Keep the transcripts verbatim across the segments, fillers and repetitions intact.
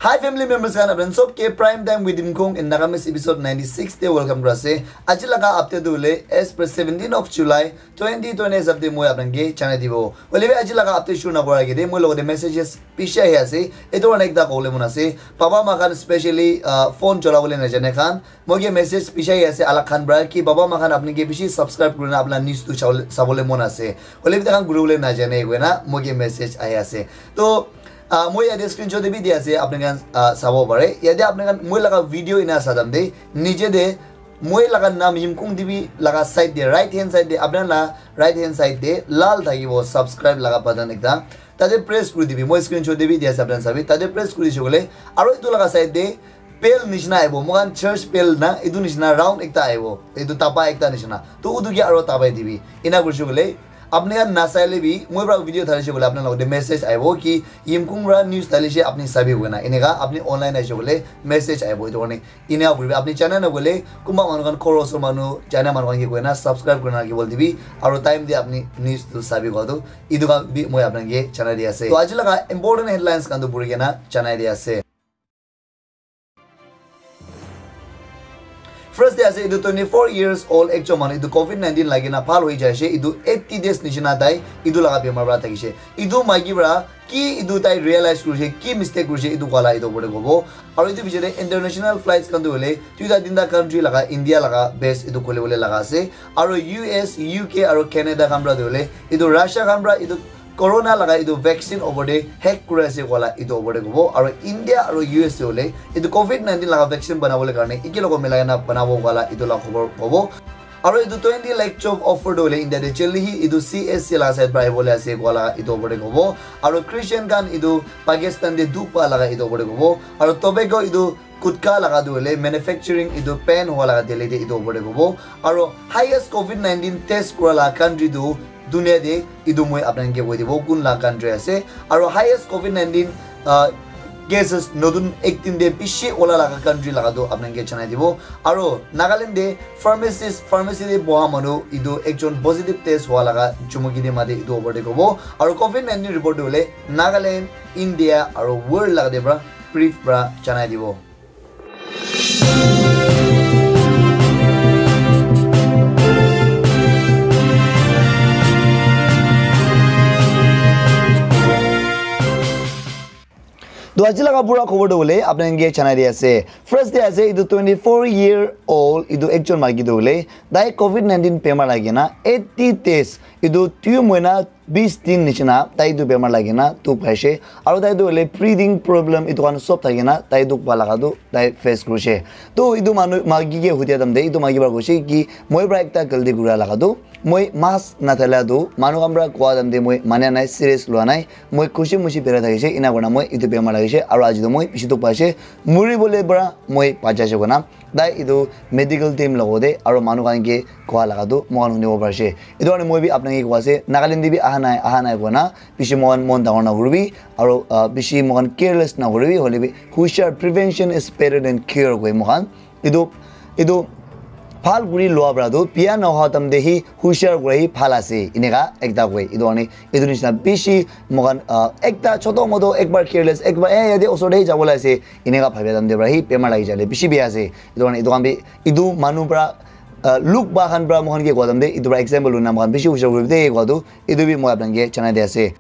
Hi family members khan, apni sob ke Prime Time with Imkung in Nagamese episode ninety six te welcome kura ase. Aji laga update tu hoile as per seventeen of July twenty twenty hisab te moi apni ke janai dibo. Hoile bi aji laga update shuru na kura age te moi logote messages bishi ahi ase. Etu karne ekta kobole mon ase. Baba ma khan specially, uh, phone chola bole na jane khan, moi ke message bishi ahi ase alak khan pra ki baba ma khan apni ke bishi subscribe kurina apna news tu sabole, sabole mon ase. Hoile bi takhan guru bole na jane koina moi ke message ahi ase. To, ah, moi yate screenshot te bi di ase, apni khan, ah, sabo pare. Yate apni khan moi laga video ina sadam de, nije de moi laga nam Yimkung T V laga side de, right hand side de, apni la right hand side de lal thakibo subscribe laga button ekta. Tate press kuri dibi, moi screenshot te bi di ase, apni khan sabi. Tate press kuri shogole, aro etu laga side de bell nishina aibo, moikhan church bell na, etu nishina round ekta aibo, etu tapa ekta nishina. To utu ke aro tapai dibi. Ina kurishe koile, apni khan nasaile bi, moi pra video thalishe koile, apni logote message aibo ki, Yimkung pra news thalishe, apni sabi koina. Eneka apni online aishe koile, message aibo. Etu karne, ina kuribi, apni channel na koile, kunba manu khan, khoro osor manu, channel manu khan ke koina, subscribe kurina rakhi bole dibi, aro time de apni news tu sabi kowa tu, etu khan bi moi apni ke janai di ase. To aji laga important headlines khan tu puri kena janai di ase. First de ase, etu twenty four years old ekjon manu etu covid nineteen lagi na bhal hoi jaise, etu eighty days nishina tai etu laga bemar para thakise. Etu maiki para ki etu tai realize kurise, ki mistake kurise, etu koa la etu opor te kobo. Aru etu piche te international flights khan tu hoile duita tinta country laga, India laga base etu khuli bole laga ase. Aru U S, U K aru Canada khan para tu hoile etu Russia khan para etu corona laga etu vaccine opor te hack kuri ase koa la etu opor te kobo, aru India aru U S te hoile etu covid nineteen laga vaccine banabole karne eke logot milai na banabo koa la etu la khobor kobo. Aru etu twenty lakh job offer tu hoile India te jaldi hi etu C S C laga side para ahibole ase koa la etu opor te kobo. Aru Christian khan etu Pakistan te dukh pa laga etu opor te kobo. Aru tobacco etu gutka laga tu hoile manufacturing etu ban howa laga Delhi te etu opor te kobo. Aru highest covid nineteen test kura laga country tu dunia te etu moi apni khan ke koi dibo kun laga country ase. Aru highest covid nineteen, ah, cases notun ek din te bishi ola laga country laga tu apni khan ke janai dibo. Aru Nagaland te pharmacist, pharmacy te boha manu etu ekjon positive test howa laga chumuki te mate etu opor te kobo. Aru covid nineteen report tu hoile Nagaland, India aru world laga te para brief para janai dibo. To aji laga pura khobor tu hoile apni khan ke janai di ase. First de ase, etu twenty four year old etu ekjon maiki tu hoile tai covid nineteen bemar lagi na eighty days, etu dui mohina bis din nishina tai etu bemar lagi na dukh paise. Aru tai tu hoile breathing problem etu khan sob thaki na tai dukh pa laga tu tai face kurise. To etu manu maiki ke hudia time te etu maiki para koise ki moi para ekta galti kura laga tu moi mask nathala tu manu khan para koa time te moi mania nai, serious lua nai. Moi khushi mushi berai thakise, ena kurina moi etu bemar lagise, aru aji tu moi bishi dukh paise, muri bole para moi bacha ase koina tai etu medical team logote aru manu khan ke koa laga tu moi khan hunibo parise. Etu karne moi bi apni khan ke koa ase, Nagaland te bi aha nai, aha nai koina bishi moi khan mon dangor nakuribi, aru, ah, bishi moi khan careless nakuribi, hoile bi hushar, prevention is better than cure koi moi khan. Etu, etu bhal kuri lua para tu bia nohoa time te hi hushar kura hi bhal ase, eneka ekta koi. Etu karne etu nishina bishi moi khan, ah, ekta choto moto ekbar careless, ekbar, eh, yate osor te hi jabo le ase, eneka bhabia time te para hi bemar lagi jale bishi bia ase. Etu karne etu khan bi etu manu para, ah, luk ba khan para moi khan ke koa time te etu para example luna moi khan bishi hushar kuri de koa tu etu bi moi apni khan ke janai de ase.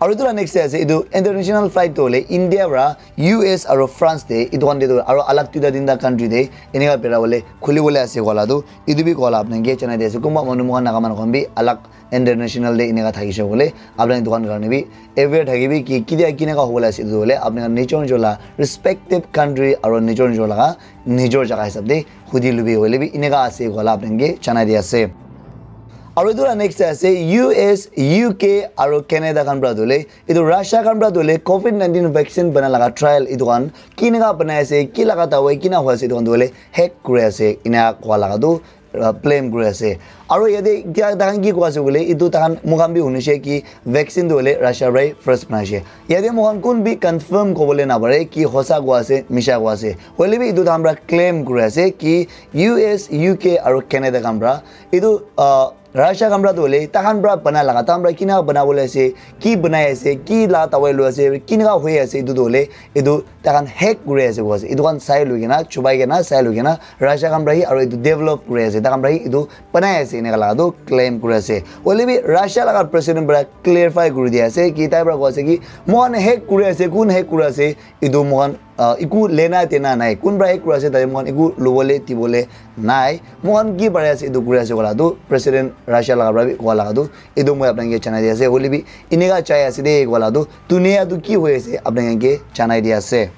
Aru etu la next te ase, etu international flight tu hoile India para U S aru France te, etu khan te tu aru alag duita tinta country te eneka bera bole khuli bole ase koa la tu, etu bi koa la apni khan ke janai di ase. Kunba manu moi khan Naga manu khan bi alag international te eneka thakise koile apni khan etu khan karne bi aware thakibi ki ketia keneka hobole ase, etu hoile apni khan nijor nijor la respective country aru nijor nijor laga nijor jaga hisab te hudi lubi hoile bi eneka ase koa la apni khan ke janai di ase. Aru etu la next te ase U S, U K aru Canada khan para tu hoile, etu Russia khan para tu hoile covid nineteen vaccine bana laga trial etu khan keneka banai ase, ki laga dawai kina hoi ase, etu khan tu hoile hack kuri ase, ena koa laga tu, uh, blame kuri ase. Aru yate etia takhan ki koa ase koile, etu takhan moi khan bi hunishe ki vaccine tu hoile Russia para first banai she. Yate moi khan kun bi confirm kobole na pare ki hosa koa ase, misha koa ase. Hoile bi etu takhan para claim kuri ase ki U S, U K aru Canada khan para etu, ah, Russia khan pra tu hoile takhan pra bana laga, takhan pra kina bana bole ase, ki banai ase, ki la tawai lo ase, kina hoi ase, etu tu hoile etu takhan hack kuri ase koi ase. Etu khan sai lui kena, chubai kena, sai lui kena Russia khan pra hi aro etu develop kuri ase, takhan pra hi etu banai ase, eneka laga tu claim kuri ase. Hoile bi Russia laga president pra clarify kuri di ase ki tai pra koi ase ki moikhan hack kuri ase, kun hack kuri ase, etu moikhan, ah, eku lena dena nai. Kun pra hack kuri ase, tate moikhan eku lobole dibole nai. Moikhan ki pari ase etu kuri ase koila tu president Russia laga pra bi koa laga tu etu moi apni khan ke janai di ase. Hoile bi eneka jai ase de koila tu dunia tu ki hoi ase apni khan ke janai di ase.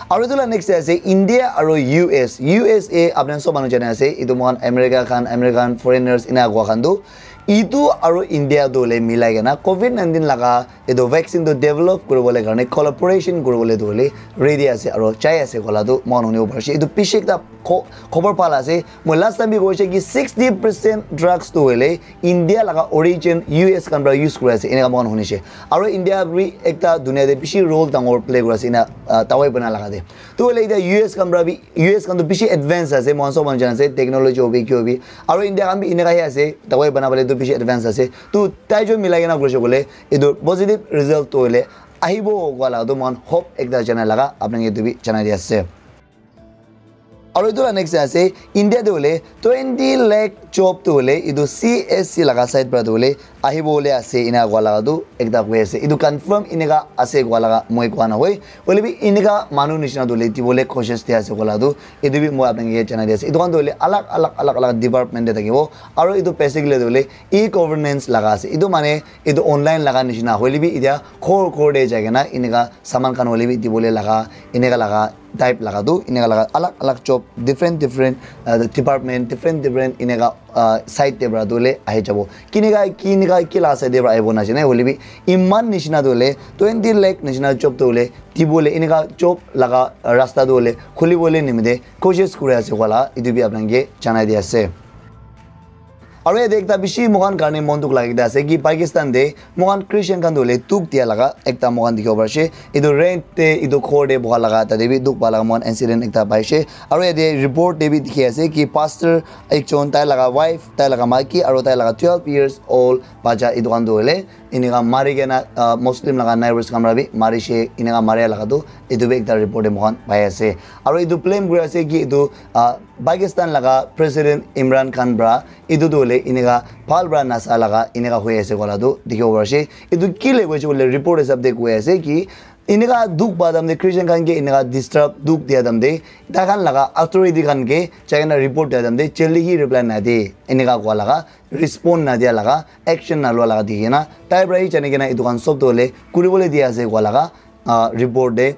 Aru etu la next te ase India aru U S. U S A apni khan sob manu jane ase, etu moikhan America khan, American foreigners ena koa khan tu, etu aru India tu hoile milai kena covid nineteen laga etu vaccine tu develop kuribole karne collaboration kuribole tu hoile ready ase aru jai ase koila tu moikhan hunibo pari ase. Etu bishi ekta kho-, khobor bhal ase. Moi last time bi koise ki sixty percent drugs tu hoile India laga origin U S khan pra use kuri ase, eneka moikhan hunise. Aru India bi ekta dunia te bishi role dangor play kuri ase, ena, ah, dawai bana laga te. Tu hoile etia U S khan pra bi, U S khan tu bishi advance ase, moikhan sob manu jana ase, technology hobi, ki hobi. Aru India khan bi eneka hi ase, dawai bana bole tu bishi advance ase. Tu tai jon milai kena kuri ase koile, etu positive result tu hoile ahibo koa laga tu moikhan hope ekta janai laga, apni khan ke etu bi janai di ase. Aru etu la next ase, India te hoile twenty lakh job tu hoile etu C S C laga side pra tu hoile ahibo bole ase, ena koa laga tu ekta koi ase. Etu confirm eneka ase koa laga moi koa nahoi. Hoile bi eneka manu nishina tu hoile dibole koshish de ase koa laga tu etu bi moi apni khan ke janai di ase. Etu khan tu hoile alag, alag, alag, alag department te thakibo. Aru etu basically tu hoile e-governance laga ase. Etu mane etu online laga nishina hoile bi etia ghor ghor te jai kena eneka saman khan hoile bi dibole laga, eneka laga type laga tu, eneka laga alag alag job, different different, uh, department, different different eneka, uh, side te pra tu hoile ahi jabo. Kineka, kineka, ki laga side te pra ahibo najane, hoile bi iman nishina tu hoile twenty lakh nishina job tu hoile dibole, eneka job laga rasta tu hoile khulibole nimite koshish kuri ase koa laga, etu bi apni khan ke janai di ase. Aru yate ekta bishi moikhan karne mon dukh lagi kena ase ki Pakistan te moikhan Christian khan tu hoile dukh dia laga ekta moikhan dikhibo pari ase. Etu rent te, etu ghor te boha laga tate bi dukh pa laga moikhan incident ekta pai ase. Aru yate report te bi dikhi ase ki pastor ekjon, tai laga wife, tai laga maiki aru tai laga twelve years old bacha, etu khan tu hoile eneka mari kena, ah, Muslim laga neighbors khan para bi marishe, eneka maria laga tu etu bi ekta report te moikhan pai ase. Aru etu blame kuri ase ki etu, ah, Pakistan laga President Imran Khan para etu tu hoile eneka bhal para nasa laga eneka hoi ase koa la tu dikhibo pari ase. Etu ki le koise koile report hisab te koi ase ki eneka dukh pa time te Christian khan ke eneka disturb dukh dia time te tai khan laga authority khan ke jai kena report dia time te jaldi hi reply na de eneka koa laga respond nadia laga, action nalua laga dikhi kena, tai para hi jani kena etu khan sob tu hoile kuribole di ase koa laga, ah, report te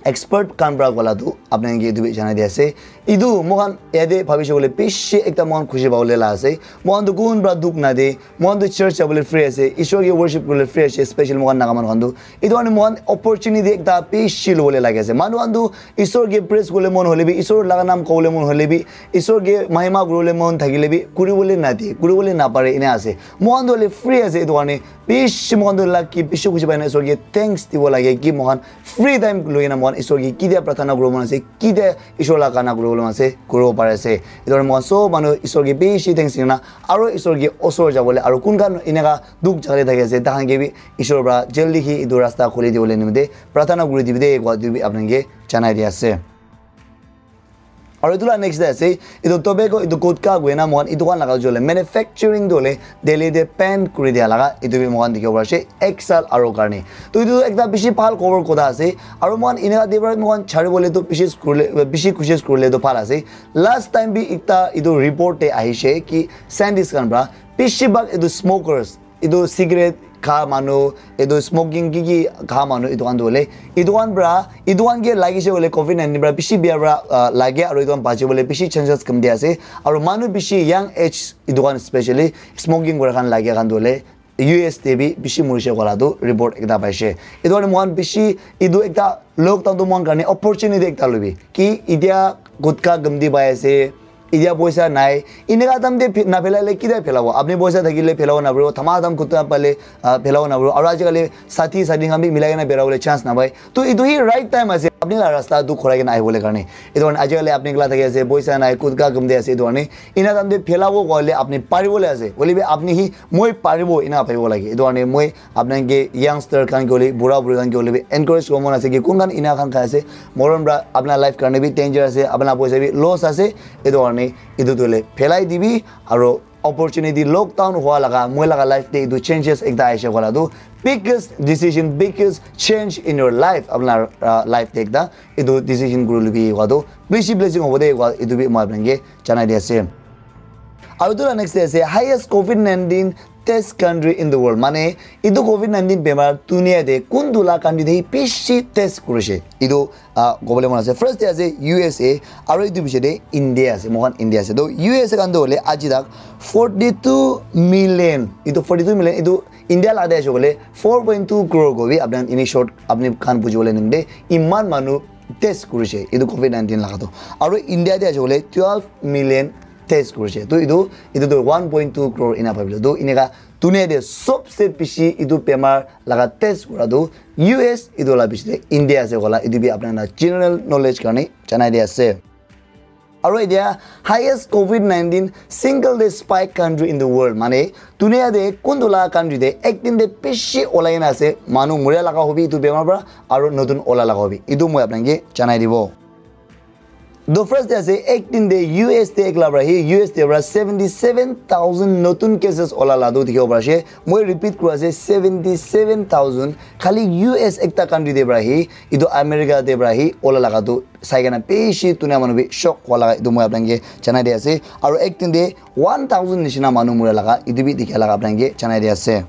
expert khan para koa la tu apni khan ke etu bi janai di ase. Etu moikhan yate bhabishe koile bishi ekta moikhan khushi pabole la ase. Moikhan tu kun para dukh nade, moikhan tu church jabole free ase, Ishwar ke worship kuribole free ase, special moikhan Naga manu khan tu. Etu karne moikhan opportunity ekta bishi lobole lage ase. Manu khan tu Ishwar ke praise kuribole mon hoile bi, Ishwar laga naam kobole mon hoile bi, Ishwar ke mahima kuribole mon thakile bi kuribole nade, kuribole napare ena ase. Moikhan tu hoile free ase, etu karne bishi moikhan tu lucky, bishi khushi pai na Ishwar ke thanks dibo lage ki moikhan free time loi kena moikhan Ishwar ke kitia prarthana kuribo mon ase, kitia Ishwar laga gana kuribo mon ase, kuribo pari ase. Etu karne moikhan sob manu Ishwar ke bishi thanks di kena aro Ishwar ke osor jabole aro kun khan eneka dukh jaga te thaki ase, tai khan ke bi Ishwar para jaldi hi etu rasta khuli dibole nimite prarthana kuri dibi de koa etu bi apni khan ke janai di ase. Aru etu la next te ase, etu tobacco, etu gutka koina moikhan etu khan laga jole manufacturing tu hoile Delhi te ban kuri dia laga etu bi moikhan dikhibo pari ase ek saal aru karne. To etu ekta bishi bhal khobor kotha ase. Aru moikhan eneka te para moikhan chari bole tu bishi kurle, bishi koshish kurle tu bhal ase. Last time bi ekta etu report te ahishe ki scientist khan para bishi bhag etu smokers, etu cigarette kha manu, etu smoking ki ki kha manu, etu khan tu hoile, etu khan para, etu khan ke lagise hoile covid nineteen para bishi bia para, ah, lage aru etu khan bachi bole bishi chances kam dia ase. Aru manu bishi young age etu khan specially smoking kora khan lage khan tu hoile U S te bi bishi morise koa la tu report ekta paise. Etu karne moikhan bishi, etu ekta lockdown tu moikhan karne opportunity ekta lobi ki etia gutka gamdi pai ase, etia poisa nai, eneka time te phi-, naphelai le kitia phelabo? Apni poisa thakile phelabo naporibo, thama tham khutta pale, ah, phelabo naporibo. Aru ajikali sathi sathi khan bi milai kena phelabole chance napai. To etu hi right time ase. Apni la rasta tu khorai kena ahibole karne. Etu karne ajikali apni ekla thaki ase, poisa nai, kutka gumde ase, etu karne ena time te phelabo koile apni paribole ase. Hoile bi apni hi moi paribo ena bhabibo lage. Etu karne moi apnake youngster khan ke hoile, bura buri khan ke hoile bi encourage kuribo mon ase ki kun khan ena khan khai ase, morom pra apna life karne bi danger ase, apna poisa bi loss ase. Etu karne etu tu hoile phelai dibi aro opportunity lockdown hua laga moi laga life te etu changes ekta aishe kola tu biggest decision, biggest change in your life, apna uh, life te ekta etu decision kuri lubi hua tu bishi blessing hobo de hua etu bi moi apnake janai di ase. Aru etu la next te ase highest covid nineteen test country in the world, mane etu covid nineteen bemar dunia te kuntu la country te bishi test kurishe etu uh, kobole mon ase. First te ase U S A, aro etu piche te India ase, moikhan India ase. To U S A khan to hoile aji tak forty two million, etu forty two million, etu India la de ase koile four point two crore ko bi apni ini short apni khan buji bole nimte iman manu test kurishe etu covid nineteen laga to. Aro India de ase koile twelve million test kurishe. To etu etu to one point two crore ena bhabile. To eneka dunia te sobse bishi etu bemar laga test kura tu U S etu la bishi te India ase kola etu bi apna na general knowledge karne janai di ase. Aro etia highest covid nineteen single day spike country in the world, mane dunia te kuntu la country te ek din te bishi olai na ase manu muria laga hobi etu bemar pra aro notun ola laga hobi etu moi apnake janai dibo. To first te ase ek din te U S te ekla pra hi U S te pra seventy seven thousand notun cases ola la tu dikhibo pari ase. Moi repeat kuri ase, seventy seven thousand khali U S ekta country te pra hi, etu America te pra hi ola laga tu sai kena bishi dunia manu bi shock hua laga etu moi apnake janai di ase. Aro ek din te one thousand nishina manu muria laga etu bi dikha laga apnake janai di ase.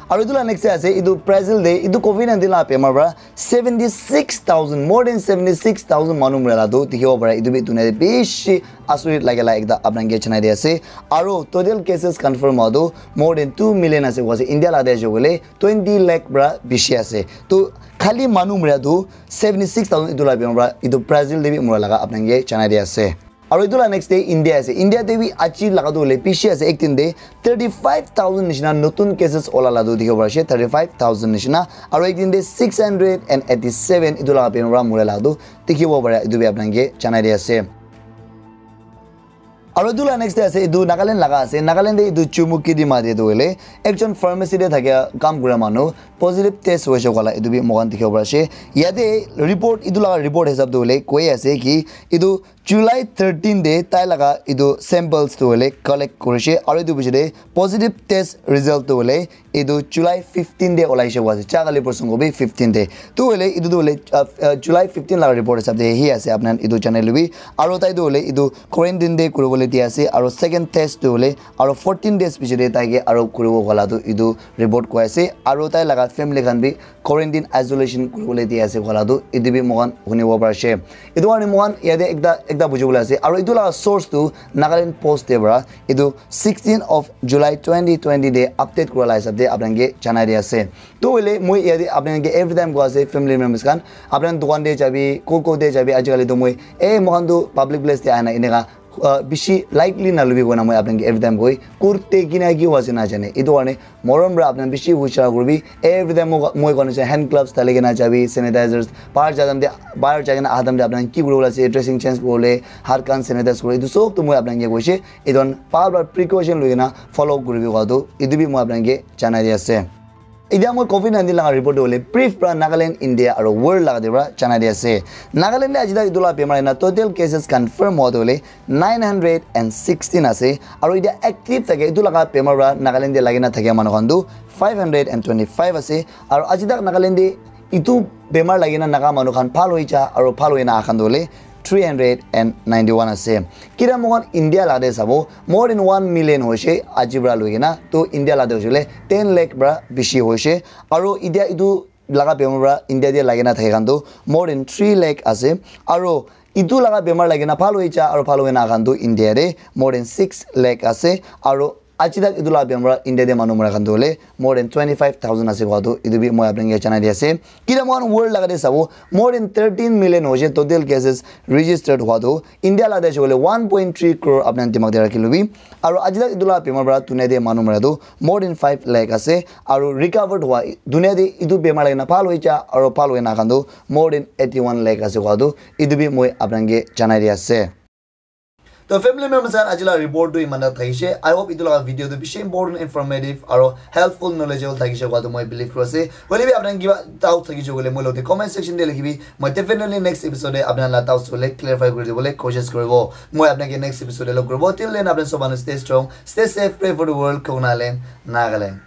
Aru etu la next te ase etu Brazil te etu covid nineteen la bemar pra seventy six thousand, more than seventy six thousand manu mura la tu dikhibo pare. Etu bi dunia te bishi asurit lage la ekta apnake janai di ase. Aru total cases confirm hua tu more than two million ase koise. India la de ase koile twenty lakh pra bishi ase. To khali manu mura tu seventy six thousand etu la bemar pra etu Brazil te bi mura laga apnake janai di ase. Aru etu la next te India ase. India te bi aji laga tu hoile bishi ase. Ek din te thirty five thousand nishina notun cases ola la tu dikhibo pari ase, thirty five thousand nishina. Aru ek din te six hundred and eighty seven etu laga bemar pra mura la tu dikhibo pare. Etu bi apnake janai di ase. Aru etu la next te ase, etu Nagaland laga ase. Nagaland te etu Chumukedima te tu hoile ekjon pharmacy te thakia kam kura manu positive test hoise kola etu bi moikhan dikhibo pari ase. Yate report, etu laga report hisab tu hoile koi ase ki etu July thirteen te tai laga etu samples tu hoile collect kurishe aru etu piche te positive test result tu hoile etu July fifteen te olaishe koa ase, cha kali porson ko bi fifteen te. Tu hoile etu tu hoile uh, uh, July fifteen laga report hisab te hi ase apna etu janai lobi. Aru tai tu hoile etu quarantine te kuribole di ase aru second test tu hoile aru fourteen days piche te tai ke aru kuribo kola tu etu report koi ase aru tai laga family khan bi quarantine isolation kuribole di ase kola tu etu bi moikhan hunibo pari ase. Etu karne moikhan yate ekta ekta buji bole ase aru etu laga source tu Nagaland Post te para etu sixteen of July twenty twenty te update kura la hisab te apnake janai di ase. Tu hoile moi yate apnake every time koi ase family members khan apna dukan te jabi ko ko te jabi ajikali tu moi eh moikhan tu public place te ahina eneka uh, bishi likely nalubi koina moi apnake every time koi kurte kina ki hoise na jane. Etu karne morom para apna bishi hushar kuribi. Every time moi moi koina se hand gloves dali kena jabi, sanitizers, bahar ja time te bahar ja kena aha time te apna ki kuribole ase, dressing change kuribole, hat khan sanitize kuribole, etu sob tu moi apnake koise. Etu khan bhal para precaution loi kena follow kuribi koa tu etu bi moi apnake janai di ase. Etia moi covid nineteen laga report tu hoile brief para Nagaland, India aru world laga te para janai di ase. Nagaland te aji tak etu laga bemar ena total cases confirm hua tu hoile nine hundred and sixteen ase. Aru etia active thake etu laga bemar para Nagaland te lagi na thakia manu khan tu five hundred and twenty five ase. Aru aji tak Nagaland te etu bemar lagi na naga manu khan bhal hoi ja aru bhal hoi na aha khan tu hoile three hundred and ninety one ase. Kira moikhan India la te sabo more than one million hoise aji para loi kena, to India la te hoise koile ten lakh para bishi hoise. Aru etia etu laga bemar para India te lagi na thake khan tu more than three lakh ase. Aru etu laga bemar lagi na bhal hoi ja aru bhal hoi na khan tu India te more than six lakh ase. Aru Aji tak etu la bemar India te manu mara khan tu hole more than twenty five thousand ase koa tu etu bi moi apni ke janai di ase. Kila moikhan world laga te sabo, more than thirteen million hoise total cases registered hua tu. India la te hoise koile one point three crore apni dimag te rakhi lobi. Aru aji tak etu la bemar para dunia te manu mara tu more than five lakh ase. Aru recovered hua dunia te etu bemar lagi na bhal hoi ja aru bhal hoi na khan tu more than eighty one lakh ase koa tu etu bi moi apni ke janai di ase. To family members khan aji la report tu iman tak thakishe. I hope etu laga video tu bishi important, informative aru helpful, knowledgeable thakishe koa tu moi believe kuri ase. Hoile bi apni kiba doubt thakishe koile moi logote comment section te likhibi. Moi definitely next episode te apni la doubts hole clarify kuri dibole koshish kuribo. Moi apni ke next episode te log kuribo. Till then apni sob manu stay strong, stay safe, pray for the world, Khokna land, Nagaland.